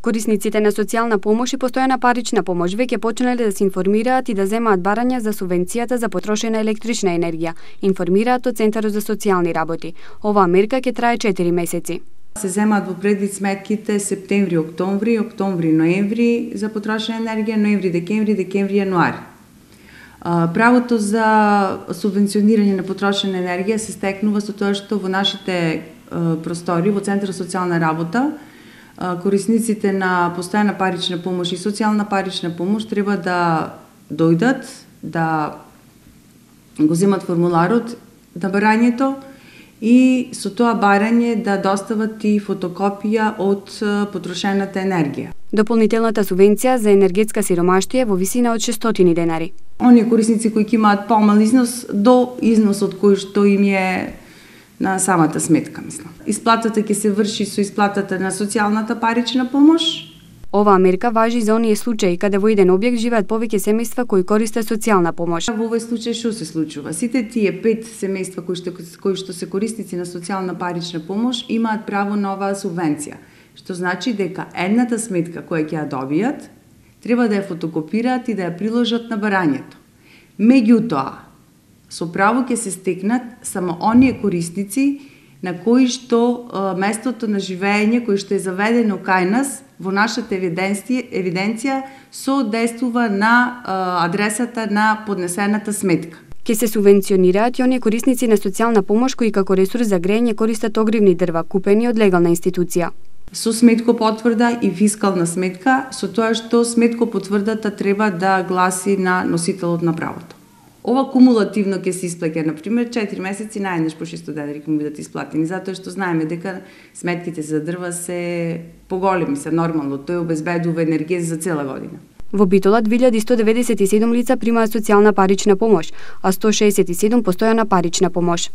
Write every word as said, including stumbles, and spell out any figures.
Корисниците на социјална помош и постојана парична помош веќе почнале да се информираат и да земаат барања за субвенцијата за потрошена електрична енергија, информираат од Центарот за социјални работи. Оваа мерка ќе трае четири месеци. Се земаат во предвид сметките септември, октомври, октомври, ноември за потрошена енергија, ноември, декември, декември, јануари. Правото за субвенционирање на потрошена енергија се стекнува со тоа што во нашите простори, во Центарот за социјална работа, корисниците на постојана парична помош и социјална парична помош треба да дојдат, да го земат формуларот на барањето и со тоа барање да достават и фотокопија од потрошената енергија. Дополнителната субвенција за енергетска сиромаштија во висина од шестстотини денари. Оние корисници кои ќе имаат помал износ до износот кој што им е на самата сметка, мислам. Исплатата ќе се врши со исплатата на социјалната парична помош. Оваа мерка важи за оние случаи каде во еден објект живеат повеќе семејства кои користат социјална помош. Во овој случај што се случува? Сите тие пет семејства кои што кои што се корисници на социјална парична помош имаат право на оваа субвенција, што значи дека едната сметка која ќе ја добијат треба да ја фотокопираат и да ја приложат на барањето. Меѓутоа, со право ќе се стекнат само оние корисници на кои што а, местото на живење кој што е заведено кај нас во нашата евиденција, евиденција соодействува на а, адресата на поднесената сметка. Ке се субвенционираат и оние корисници на социјална помош кои како ресурс за грејење користат огривни дрва купени од легална институција. Со сметкопотврда и фискална сметка, со тоа што сметкопотврдата треба да гласи на носителот на правото. Ова кумулативно ќе се исплаќа, например, четири месеци наеднаш по шестоста денари ќе му бидат исплатени, затоа што знаеме дека сметките за дрва се поголеми, се нормално, тој обезбедува енергија за цела година. Во Битола две илјади сто деведесет и седум лица примаат социјална парична помош, а сто шеесет и седум постојана парична помош.